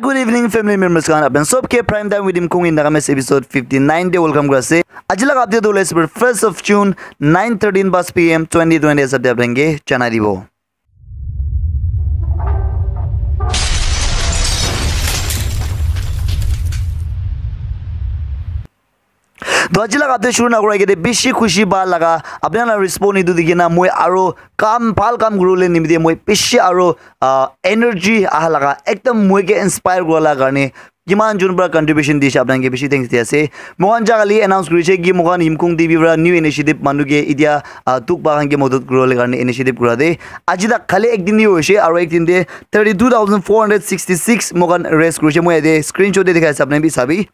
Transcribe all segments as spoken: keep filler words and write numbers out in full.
Good evening, family members khan. Apni sob ke Prime Time with Imkung in Nagamese episode fifty nine te welcome kura ase. Aji laga update tu hoile first of June, nine thirteen bas P M twenty twenty ase, apni ke janai dibo. To aji laga update shuru na kura agete bishi khushi ba laga apni khan la respond etu dikhi na moi aro kam, bhal kam kuribole nimite moi bishi aro, ah, energy aha laga, ekdam moi ke inspire kura laga karne kiman jon para contribution dise, apni khan ke bishi thanks di ase. Moi khan ja kali announce kurise ki moi khan Yimkung T V para new initiative manu ke itia, ah, dukh pa khan ke madad kuribole karne initiative kura de. Aji tak khali ek din hi hoise aro ek din te thirty two thousand four hundred sixty six moi khan raise kurise. Moi yate screenshot te dikhai ase, apni khan bi sabi.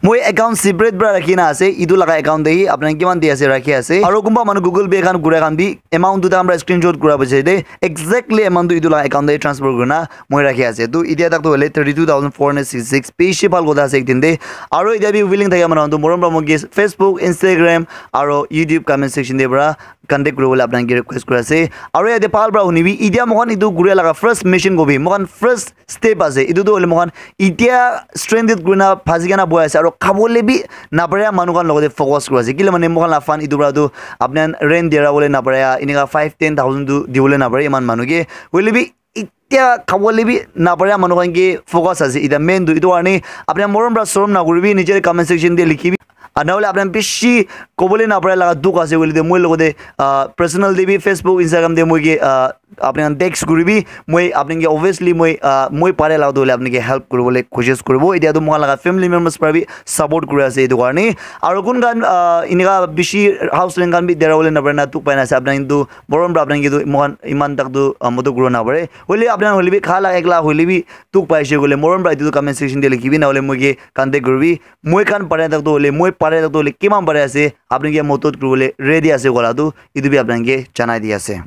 Moi account separate para rakhi na ase, etu laga account te hi apni khan kiman di ase rakhi ase. Aro kunba manu Google Pay khan kura khan bi amount tu takhan para screenshot kura bujai de, exactly amount tu etu laga account te transfer kurina moi rakhi ase. Tu itia tak tu hoile thirty two thousand four hundred sixty six, bishi bhal kotha ase ek din te. Aro itia bi willing thaka manu khan tu morom para moi ke Facebook, Instagram aro YouTube comment section te para contact kuribole apni khan ke request kuri ase. Aro yate bhal para hunibi, itia moi khan etu kuria laga first mission kobi, moi khan first step ase. Etu tu hoile moi khan itia stranded kurina phasi kena bohi ase, aro khabole bi naparia manu khan logote focus kuri ase. Kile mane moi khan la fund etu para tu apni khan rent dia bole naparia, enika five ten thousand tu dibole naparia iman manu ke. Hoile bi itia khabole bi naparia manu khan ke focus ase. Itia main tu etu karne apni khan morom para sorom na kuribi, niche comment section te likhibi. Ah, nahole apni khan bishi kobole naparia laga dukh ase koile tu moi logote, ah, personal te bi, Facebook, Instagram te moi ke, ah, apni khan text kuribi, moi apni ke obviously moi, ah, moi pare laga tu hoile apni ke help kuribole koshish kuribo. Itia tu moi khan laga family members para bi support kuri ase etu karne. Aro kun khan, ah, enika bishi house rent khan bi dera bole napare na dukh pai na ase, apni khan tu morom para apni khan ke tu moi khan iman tak tu, ah, madad kuribo napare. Hoile apni khan hoile bi kha laga ekla hoile bi dukh pai ase koile morom para etu tu comment section te likhibi, nahole moi ke contact kuribi. Moi khan pare tak tu hoile, moi pare tak tu hoile kiman pare ase, apni ke madad kuribole ready ase kola tu, etu bi apni khan ke janai di ase.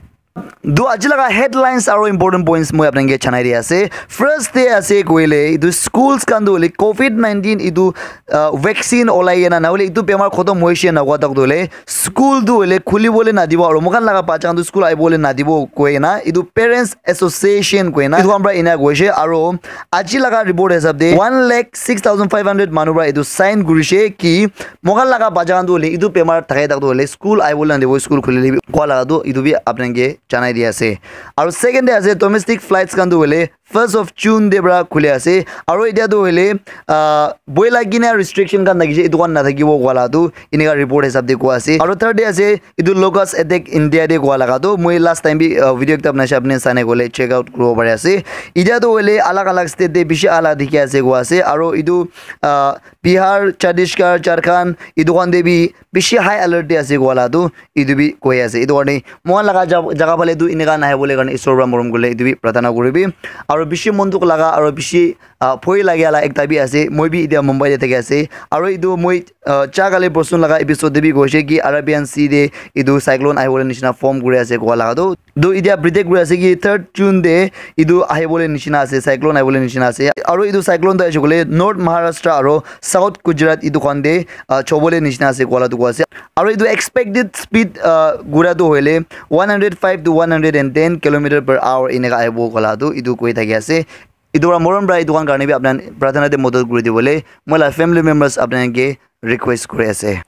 Tu aji laga headlines aro important points moi apni khan ke janai di ase. First te ase koile, etu schools khan tu hoile covid nineteen etu, ah, vaccine olai kena, nahole etu bemar khotom hoise na hua tak tu hoile, school tu hoile khulibole nadibo, aro moi khan laga bacha khan tu school ahibole nadibo koi kena, etu Parents Association koi kena, etu khan para ena koise, aro aji laga report hisab te one lakh six thousand five hundred manu para etu sign kurise ki moi khan laga bacha khan tu hoile etu bemar thake tak tu hoile school ahibole nadibo, school khulile bi kua laga tu etu bi apni khan ke janai di ase. Aro second te ase domestic flights khan tu hoile first of June te para khuli ase. Aro itia tu hoile, ah, boila kena restriction khan thakise, etu khan nathakibo koala tu enika report hisab te koa ase. Aro third te ase, etu locust attack India te koa laga tu moi last time bi, ah, video ekta banai se, apni khan sai nai koile check out kuribo pari ase. Itia tu hoile alag alag state te bishi ala dikhi ase koa ase. Aro etu, ah, Bihar, Chhattisgarh, Jharkhand, etu khan te bi bishi high alert te ase koala tu etu bi koi ase. Etu karne moi khan laga ja-, jaga phale tu enika nahibole karne Isor para morom kurle etu bi prarthana kuribi. Aro bishi mon dukh laga aro bishi, ah, bhoi lagia la ekta bi ase. Moi bi itia Mumbai te thaki ase. Aro etu moi, ah, cha kali porson laga episode te bi koise ki Arabian Sea te etu cyclone ahibole nishina form kuri ase koa laga tu. Tu itia predict kuri ase ki third June te etu ahibole nishina ase, cyclone ahibole nishina ase. Aro etu cyclone tu aise koile North Maharashtra aro South Gujarat etu khan te, ah, chobole nishina ase koala tu koa ase. Aro etu expected speed, ah, gura tu hoile one hundred five to one hundred and ten kilometer per hour enika ahibo koala tu etu koi thaki ase. Etu para morom para etu khan karne bi apni khan prarthana te madad kuri dibole moi la family members apni khan ke request kuri ase.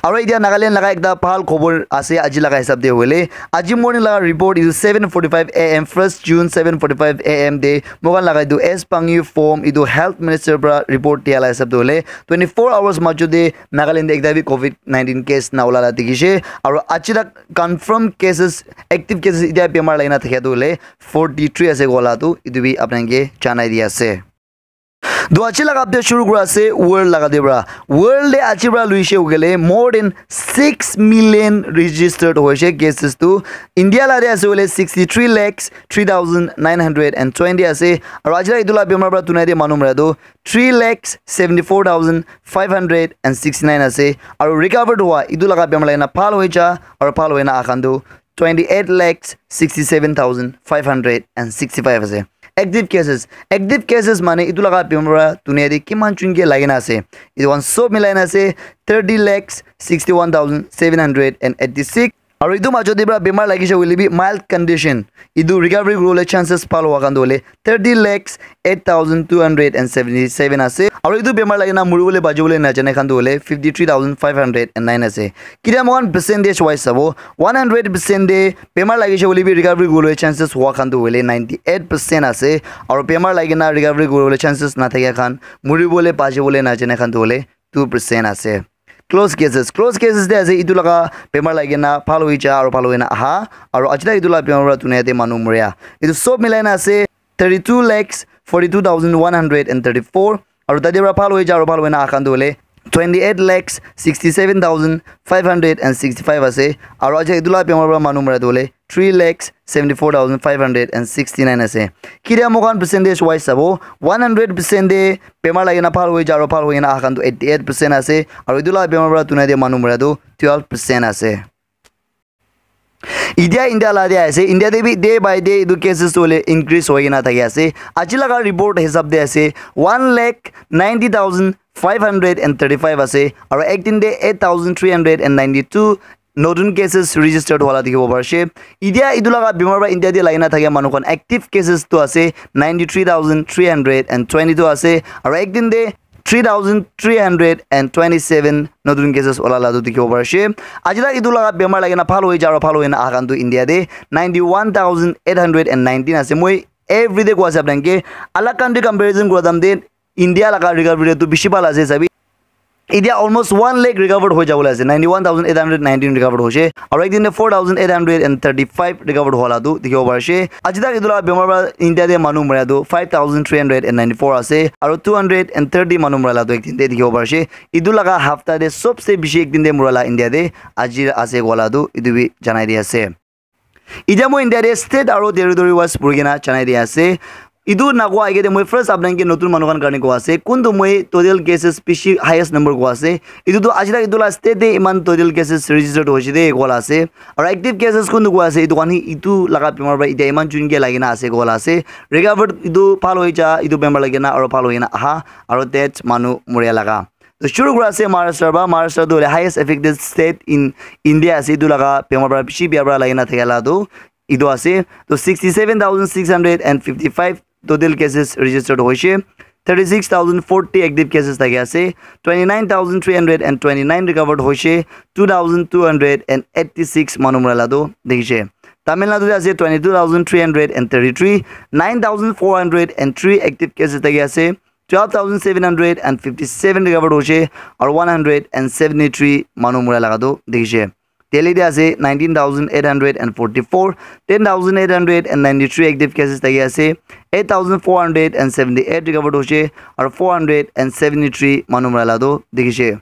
Aro itia Nagaland laga ekta bhal khobor ase aji laga hisab te hoile. Aji morning laga report etu seven forty-five A M, first June, seven forty-five A M te moi khan laga etu East Pangyu Phom etu health minister para report dia la hisab te hoile twenty-four hours majo te Nagaland te ekta bi covid nineteen case na ola la dikhi se. Aro aji tak confirm cases, active cases itia bemar lagina thakia tu hoile forty-three ase koala tu etu bi apni khan ke janai di ase. To aji laga update shuru kura ase world laga te para. World te aji para luise hoile more than six million registered hoise cases tu. India la te ase hoile sixty-three lakhs three thousand nine hundred and twenty ase. Aro aji la etu la bemar para dunia te manu mara tu three lakhs seventy-four thousand five hundred and sixty-nine ase. Aro recovered hua etu laga bemar lagina bhal hoi ja aro bhal hoina aha khan tu twenty-eight lakhs sixty-seven thousand five hundred and sixty-five ase. Active cases, active cases mane etu laga bemar para dunia te kiman jon ke lagina ase, etu khan sob milai na ase thirty lakhs sixty-one thousand seven hundred and eighty-six. Aru etu majot te para bemar lagise hoile bi mild condition, etu recovery kuribole chances pal howa khan tu hoile thirty lakhs eight thousand two hundred and seventy seven ase. Aru etu bemar lagi na muribole bachibole najane khan tu hoile fifty three thousand five hundred and nine ase. Kitia moikhan percentage wise sabo, one hundred percent te bemar lagise hoile bi recovery kuribole chances howa khan tu hoile ninety eight percent ase. Aru bemar lagi na recovery kuribole chances nathakia khan, muribole bachibole najane khan tu hoile two percent ase. Close cases, close cases te ase, etu laga bemar lagi na bhal hoi ja aru bhal hoi na aha, aru aji tak etu laga bemar para dunia te manu moria. Etu sob milai na ase thirty two lakhs forty two thousand one hundred and thirty four. Aru tate para bhal hoi ja aru bhal hoi na aha khan tu hoile twenty eight lakhs sixty seven thousand five hundred and sixty five ase. Aru aji etu laga bemar para manu moria tu hoile three lakhs seventy four thousand five hundred and sixty nine ase. Kitia moikhan percentage wise sabo, one hundred percent te bemar lagi na bhal hoi ja aru bhal hoi na aha khan tu eighty eight percent ase. Aru etu laga bemar para dunia te manu moria tu twelve percent ase. Itia India la te ase, India te bi day by day etu cases tu hoile increase hoi kena thaki ase. Aji laga report hisab te ase one lakh ninety thousand five hundred and thirty five ase, aru ek din te eight thousand three hundred and ninety two notun cases registered howa la dikhibo parishe. Itia etu laga bemar para India te lagi na thakia manu khan active cases tu ase ninety three thousand three hundred and twenty two ase, aru ek din te three thousand three hundred and twenty seven notun cases ola la tu dikhibo parishe. Aji tak etu laga bemar lagi na bhal hoi ja aru bhal hoi na aha khan tu India te ninety one thousand eight hundred and nineteen ase. Moi everyday koi ase apni khan ke, alag country comparison kura time te India laga recovery rate tu bishi bhal ase sabi. Itia almost one lakh recovered hoi jabole ase, ninety one thousand eight hundred nineteen recovered hoise, aru ek din te four thousand eight hundred and thirty five recovered hola tu dikhibo parishe. Aji tak etu laga bemar para India te manu moria tu five thousand three hundred and ninety four ase, aru two hundred and thirty manu moria la tu ek din te dikhibo parishe. Etu laga hafta te sobse bishi ek din te moria la India te aji ase koa la tu etu bi janai di ase. Itia moi India te state aru territory wise puri kena janai di ase. Etu nakoa agey te moi first apni khan ke notun manu khan karne koa ase, kuntu moi total cases bishi highest number koa ase. Etu tu aji tak etu la state te iman total cases registered hoise de koa la ase. Aru active cases kuntu koa ase, etu khan hi etu laga bemar para itia iman jun ke lagi na ase koa la ase. Recovered etu bhal hoi ja, etu bemar lagi na aru bhal hoi na aha, aru death manu moria laga. To shuru kura ase Maharashtra para. Maharashtra tu hoile highest affected state in India ase. Etu laga bemar para bishi bia para lagi na thaka la tu etu ase. To sixty seven thousand six hundred and fifty five total cases registered hoise. Thirty six thousand forty active cases thaki ase. Twenty nine thousand three hundred and twenty nine recovered hoise. Two thousand two hundred and eighty six manu mura la tu dikhi se. Tamil Nadu te ase twenty two thousand three hundred and thirty three, nine thousand four hundred and three active cases thaki ase. Twelve thousand seven hundred and fifty seven recovered hoise, aru one hundred and seventy three manu mura laga tu dikhi se. Delhi te ase nineteen thousand eight hundred and forty four, ten thousand eight hundred and ninety three active cases thaki ase, eight thousand four hundred and seventy eight recovered hoise, aru four hundred and seventy three manu mura laga tu dikhi se.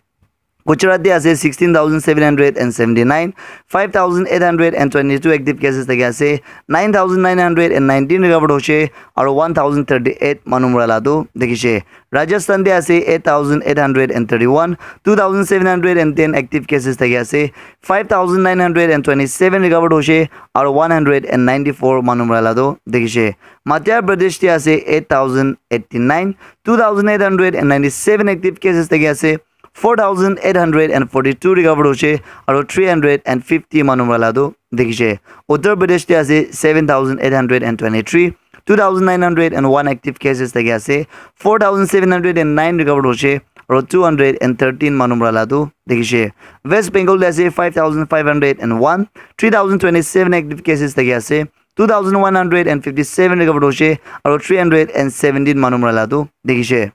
Gujarat te ase sixteen thousand seven hundred and seventy nine, five thousand eight hundred and twenty two active cases thaki ase, nine thousand nine hundred and nineteen recovered hoise, aru one thousand thirty eight manu mura laga tu dikhi se. Rajasthan te ase eight thousand eight hundred and thirty one, two thousand seven hundred and ten active cases thaki ase, five thousand nine hundred and twenty seven recovered hoise, aru one hundred and ninety four manu mura laga tu dikhi se. Madhya Pradesh te ase eight thousand eighty nine, two thousand eight hundred and ninety seven active cases thaki ase, four thousand eight hundred and forty two recovered hoise, aru three hundred and fifty manu mura laga tu dikhi se. Uttar Pradesh te ase seven thousand eight hundred and twenty three, two thousand nine hundred and one active cases thaki ase, four thousand seven hundred and nine recovered hoise, aru two hundred and thirteen manu mura laga tu dikhi se. West Bengal te ase five thousand five hundred and one, three thousand twenty seven active cases thaki ase, two thousand one hundred and fifty seven recovered hoise, aru three hundred and seventeen manu mura laga tu dikhi se.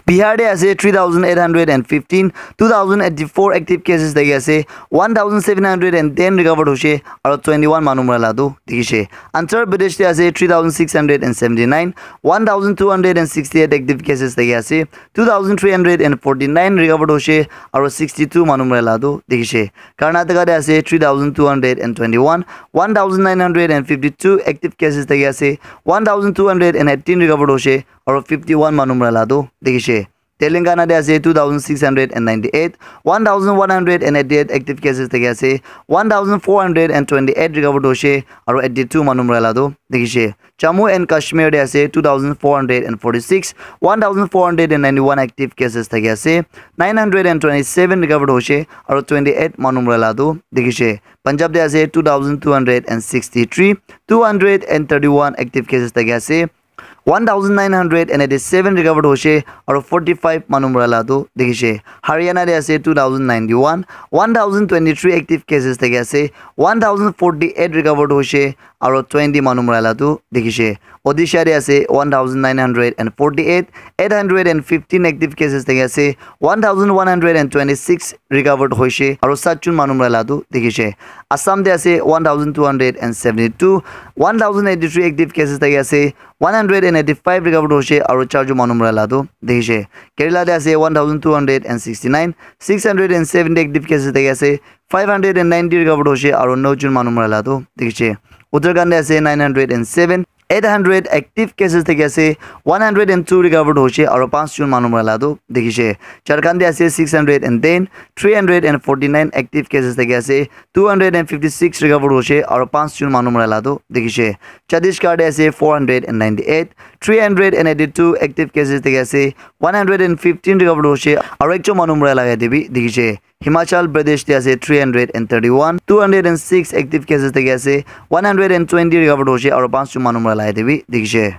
Bihar te ase three thousand eight hundred and fifteen, two thousand eighty four active cases thaki ase, one thousand seven hundred and ten recovered hoise, aru twenty one manu mura laga tu dikhi se. Andhra Pradesh te ase three thousand six hundred and seventy nine, one thousand two hundred and sixty eight active cases thaki ase, two thousand three hundred and forty nine recovered hoise, aru sixty two manu mura laga tu dikhi se. Karnataka te ase three thousand two hundred and twenty one, one thousand nine hundred and fifty two active cases thaki ase, one thousand two hundred and eighteen recovered hoise, aru fifty one manu mura laga tu dikhi se. Telangana te ase two thousand six hundred and ninety eight, one thousand one hundred and eighty eight active cases thaki ase, one thousand four hundred and twenty eight recovered hoise, aru eighty two manu mura la tu dikhi se. Jammu and Kashmir te ase two thousand four hundred and forty six, one thousand four hundred and ninety one active cases thaki ase, nine hundred and twenty seven recovered hoise, aru twenty eight manu mura la tu dikhi se. Punjab te ase two thousand two hundred and sixty three, two hundred and thirty one active cases thaki ase, one thousand nine hundred and eighty seven recovered hoise, aru forty five manu mura la tu dikhi se. Haryana te ase two thousand ninety one, one thousand twenty three active cases thaki ase, one thousand forty eight recovered hoise, aru twenty manu mura la tu dikhi se. Odisha te ase one thousand nine hundred and forty eight, eight hundred and fifteen active cases thaki ase, one thousand one hundred and twenty six recovered hoise, aru sat jon manu mura la tu dikhi se. Assam te ase one thousand two hundred and seventy two, one thousand eighty three active cases thaki ase, one hundred and eighty five recovered hoise, aru char jon manu mura la tu dikhi se. Kerala te ase one thousand two hundred and sixty nine, six hundred and seventy active cases thaki ase, five hundred and ninety recovered hoise, aru nine jon manu mura la tu dikhi se. Uttarakhand te ase nine hundred and seven, eight hundred active cases thaki ase, one hundred and two recovered hoise, aru panch jon manu mura la tu dikhi se. Jharkhand te ase six hundred and ten, three hundred and forty nine active cases thaki ase, two hundred and fifty six recovered hoise, aru panch jon manu mura la tu dikhi se. Chhattisgarh te ase four hundred and ninety eight, three hundred and eighty two active cases thaki ase, one hundred and fifteen recovered hoise, aru ekjon manu mura la yate bi dikhi se. Himachal Pradesh te ase three hundred and thirty one, two hundred and six active cases thaki ase, one hundred and twenty recovered hoise, aru panch jon manu mura la yate bi dikhi se.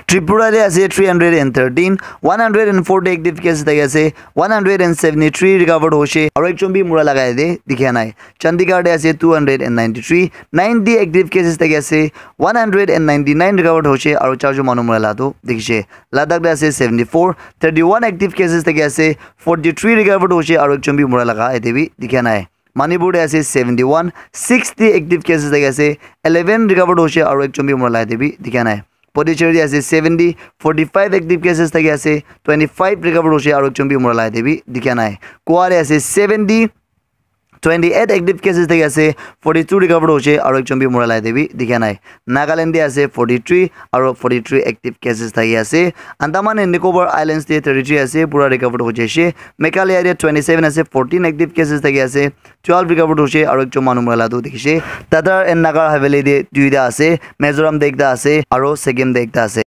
Tripura te ase three hundred and thirteen, one hundred and forty active cases thaki ase, one hundred and seventy three recovered hoise, aru ekjon bi mura la yate dikhi nai. Chandigarh te ase two hundred and ninety three, ninety active cases thaki ase, one hundred and ninety nine recovered hoise, aru char jon manu mura la tu dikhi se. Ladakh te ase seventy four, thirty one active cases thaki ase, forty three recovered hoise, aru ekjon bi mura la yate bi dikhi nai. Manipur te ase seventy one, sixty active cases thaki ase, eleven recovered hoise, aru ekjon bi mura la yate bi dikhi nai. Puducherry te ase seventy, forty five active cases thaki ase, twenty five recovered hoise, aru ekjon bi mura la yate bi dikhi nai. Goa te ase seventy, twenty eight active cases thaki ase, forty two recovered hoise, aru ekjon bi mura la yate bi dikhi nai. Nagaland te ase forty three, aru forty three active cases thaki ase. Andaman and Nicobar Islands te thirty three ase, pura recovered hoise. Meghalaya te twenty seven ase, fourteen active cases thaki ase, twelve recovered hoise, aru ekjon manu mura la tu dikhi se. Dadar and Nagar Haveli te duita ase, Mizoram te ekta ase, aru Sikkim te ekta ase.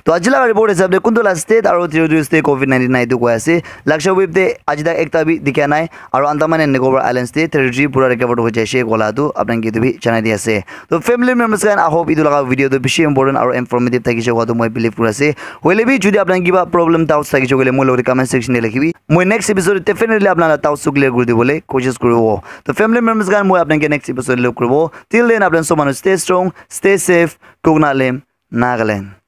To aji laga report hisab te kuntu la state aru territories te covid nineteen nai tu koi ase. Lakshadweep te aji tak ekta bi dikha nai, aru Andaman and Nicobar Islands te territory pura recovered hoi jaise kola tu apni khan ke etu bi janai di ase. To family members khan, I hope etu laga video tu bishi important aru informative thakise koa tu moi believe kuri ase. Hoile bi jodi apni khan kiba problem, doubts thakise koile moi logot comment section te likhibi. Moi next episode definitely apni khan la doubts tu clear kuri dibole koshish kuribo. To family members khan, moi apni khan ke next episode te log kuribo. Till then, apni khan sob manu stay strong, stay safe. Kukna Lem, Nagaland.